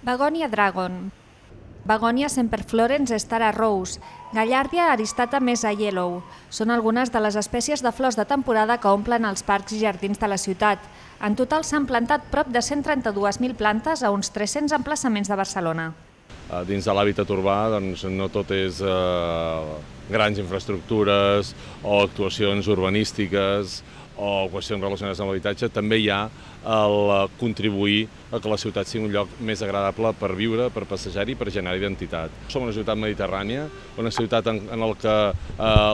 Begonia Dragon, Begonia semperflorens Stara Rose, Gallardia aristata mesa yellow. Són algunes de les espècies de flors de temporada que omplen els parcs i jardins de la ciutat. En total s'han plantat prop de 132.000 plantes a uns 300 emplaçaments de Barcelona. Dins de l'hàbitat urbà no tot és grans infraestructures o actuacions urbanístiques o qüestions relacionades amb l'habitatge. També hi ha el contribuir a que la ciutat sigui un lloc més agradable per viure, per passejar-hi i per generar identitat. Som una ciutat mediterrània, una ciutat en què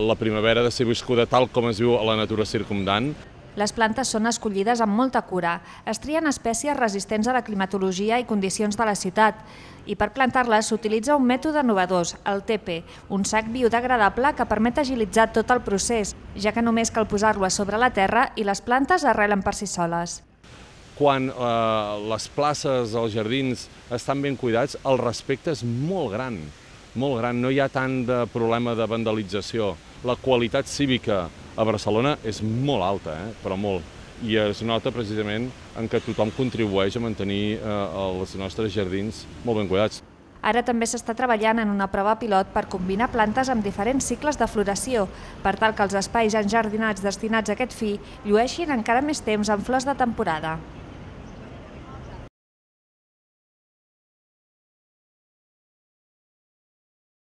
la primavera ha de ser viscuda tal com es viu a la natura circumdant. Les plantes són escollides amb molta cura. Es trien espècies resistents a la climatologia i condicions de la ciutat. I per plantar-les s'utilitza un mètode innovador, el TP, un sac biodegradable que permet agilitzar tot el procés, ja que només cal posar-lo a sobre la terra i les plantes arrelen per si soles. Quan les places, els jardins estan ben cuidats, el respecte és molt gran, molt gran. No hi ha tant de problema de vandalització. La qualitat cívica a Barcelona és molt alta, però molt. I es nota precisament en què tothom contribueix a mantenir els nostres jardins molt ben cuidats. Ara també s'està treballant en una prova pilot per combinar plantes amb diferents cicles de floració, per tal que els espais enjardinats destinats a aquest fi llueixin encara més temps amb flors de temporada.